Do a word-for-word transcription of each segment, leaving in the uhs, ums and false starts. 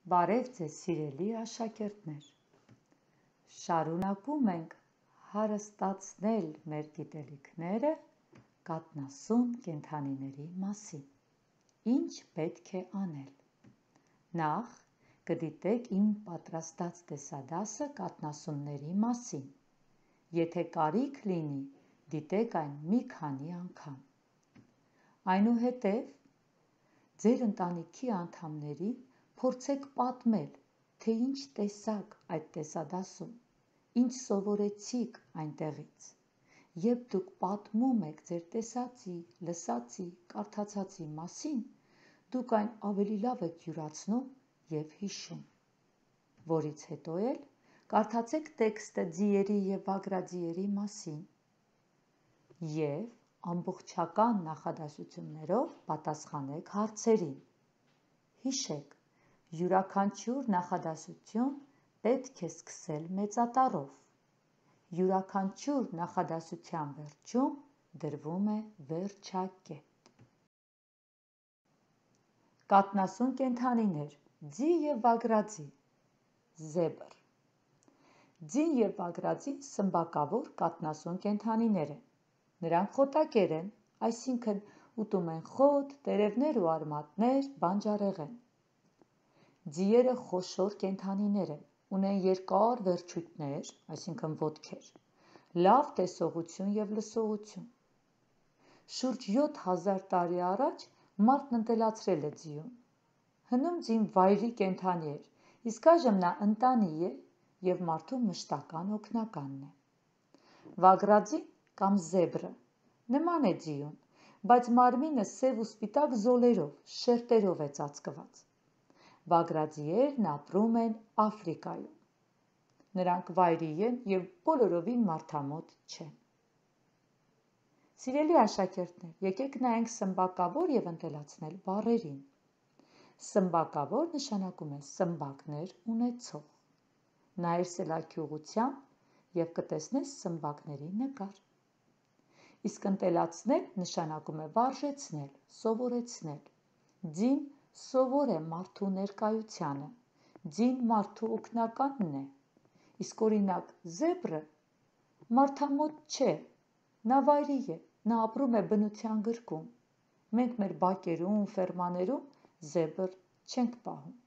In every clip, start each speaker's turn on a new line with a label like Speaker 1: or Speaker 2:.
Speaker 1: Բարև ձեզ սիրելի աշակերտներ, շարունակում ենք հարստացնել մեր գիտելիքները կաթնասուն կենդանիների մասին, ինչ պետք է անել, նախ կդիտեք իմ պատրաստած տեսադասը կաթնասունների մասին, եթե կարիք լինի դիտեք այն մի քանի անգամ, այնուհետև ձեր ընտանիքի անդամներին փորձեք պատմել, թե ինչ տեսաք այդ տեսադասում, ինչ սովորեցիք այնտեղից, երբ դուք պատմում եք ձեր տեսածի, լսածի, կարդացածի մասին, դուք այն ավելի լավ եք յուրացնում և հիշում, որից հետո էլ կարդացեք տեքստը ձիերի և բագրաձիերի մասին և ամբողջական նախադասություններով պատասխանեք հարցերին, հիշեք, յուրաքանչյուր նախադասություն պետք է սկսել մեծատառով, յուրաքանչյուր նախադասության վերջում դրվում է վերջակետ։ Կաթնասուն կենդանիներ, ձի և բագրաձի, զեբր։ Ձին և բագրաձին սմբակավոր կաթնասուն կենդանիներ են, նրանք խոտակեր են, այսինքն ուտում են խոտ, տերևներ ու արմատներ, բանջարեղեն։ Ձիերը խոշոր կենդանիներ են, ունեն երկար վերջույթներ, այսինքն ոտքեր, լավ տեսողություն և լսողություն։ Շուրջ յոթ հազար տարի առաջ մարդն ընտելացրել է ձիուն։ Հնում ձին վայրի կենդանի էր, իսկ այժմ նա ընտանի է և մարդու մշտական օգնականն է։ Բագրաձին կամ զեբրը նման է ձիուն, բայց մարմինը սև ու սպիտակ զոլերով, շերտերով է ծածկված։ Բագրաձիերն ապրում են Աֆրիկայում։ Նրանք վայրի են և բոլորովին մարդամոտ չեն։ Սիրելի աշակերտներ, եկեք նայենք սմբակավոր և ընտելացնել բառերին։ Սմբակավոր նշանակում է սմբակներ ունեցող։ Նայիր սելաքի ուղղությամբ և կտեսնես սմբակների նկար։ Իսկ ընտելացնել նշանակում է վարժեցնել, սովորեցնել։ Ձին սովոր է մարդու ներկայությանը, ձին մարդու օգնականն է, իսկ օրինակ զեբրը մարդամոտ չէ, նա վայրի է, նա ապրում է բնության գրկում, մենք մեր բակերում, ֆերմաներում զեբր չենք պահում։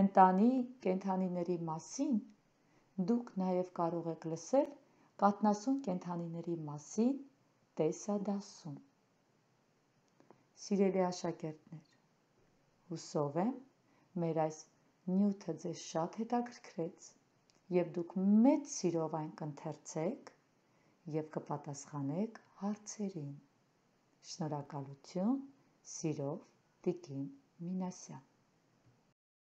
Speaker 1: Ընտանի կենդանիների մասին դուք նաև կարող եք լսել կաթնասուն կենդանիների մասին տեսադասում։ Սիրելի աշակերտներ, հուսով եմ, մեր այս նյութը ձեզ շատ հետաքրքրեց և դուք մեծ սիրով այն կընթերցեք և կպատասխանեք հարցերին։ Շնորհակալություն, սիրով, տիկին Մինասյան։